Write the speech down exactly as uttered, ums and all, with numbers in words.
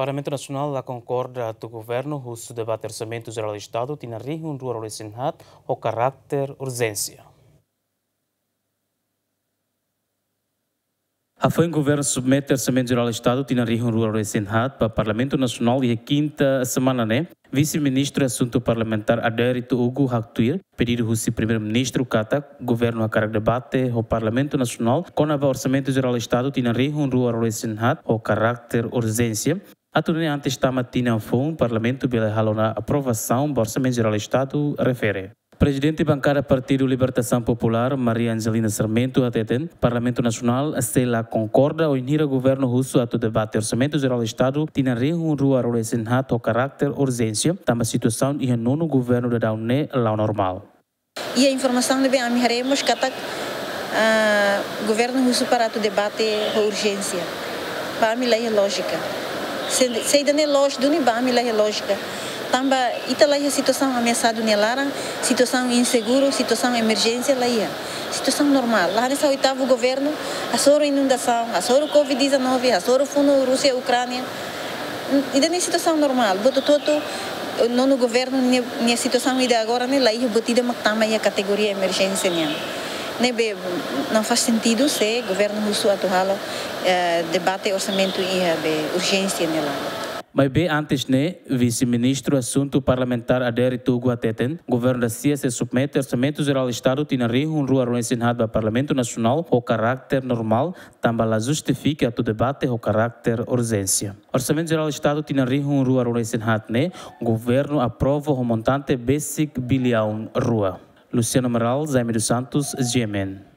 Parlamentu Nasionál la konkorda atu governu husu debate Orsamentu Jerál Estadu tinan rihun rua ruanulu-resin-haat ho karakter urjénsia. Hafoin governu submete Orsamentu Jerál Estadu tinan rihun rua ruanulu-resin-haat ba Parlamentu Nasionál iha kinta semana ne'e, Vise-Ministru Asuntu Parlamentár Adérito Hugo haktuir pedidu husi Primeiru-Ministru katak governu hakarak debate ho Parlamentu Nasionál kona-ba Orsamentu Jerál Estadu tinan rihun rua ruanulu-resin-haat ho karakter urjénsia, atu nune'e antes tama tinan foun Parlamentu bele halo ona aprovasaun ba Orsamentu Jerál Estadu refere. Prezidente Bankada Partidu Libertasaun Populár, Maria Angelina Sarmento, hateten Parlamentu Nasionál sei la konkorda wainhira governu husu atu debate Orsamentu Jerál Estadu tinan rihun rua ruanulu-resin-haat ho karakter urjénsia, tanba situasaun iha nonu governu daudaun ne'e la'o normál. Iha informasaun ne'ebé ami haree mós katak, ah, governu husu para atu debate ho urjénsia. Ba ami la iha lójika. Se, se ida-ne'e loos duni, ba ami la iha lójika. Tanba ita la iha situasaun ameasadu nia laran, situasaun inseguru, situasaun emerjénsia la iha. Situasaun normál. La hanesan oitavu governu, hasoru inundasaun, hasoru covid dezanove, hasoru funu Rúsia, Ukránia. Ida-ne'e situasaun normál. Buat hotu-hotu, nonu governu nia, nia situasaun ida agora ne'e la iha buat ida mak tama iha kategoria emerjénsia nian. Ne'ebé la faz sentidu se governu husu atu halo, eh, debate orsamentu iha be urjénsia nia laran. Maibé antes ne'e, Vise-Ministru Asuntu Parlamentár Adérito Hugo hateten, governu da sia sei submete Orsamentu Jerál Estadu tinan rihun rua ruanulu-resin-haat ba Parlamentu Nasionál ho karakter normál, tanba la justifika atu debate ho karakter urjénsia. Orsamentu Jerál Estadu tinan rihun rua ruanulu-resin-haat ne'e governu aprova ho montante besik biliaun rua. Luciano Amaral, Jaime dos Santos, G M N.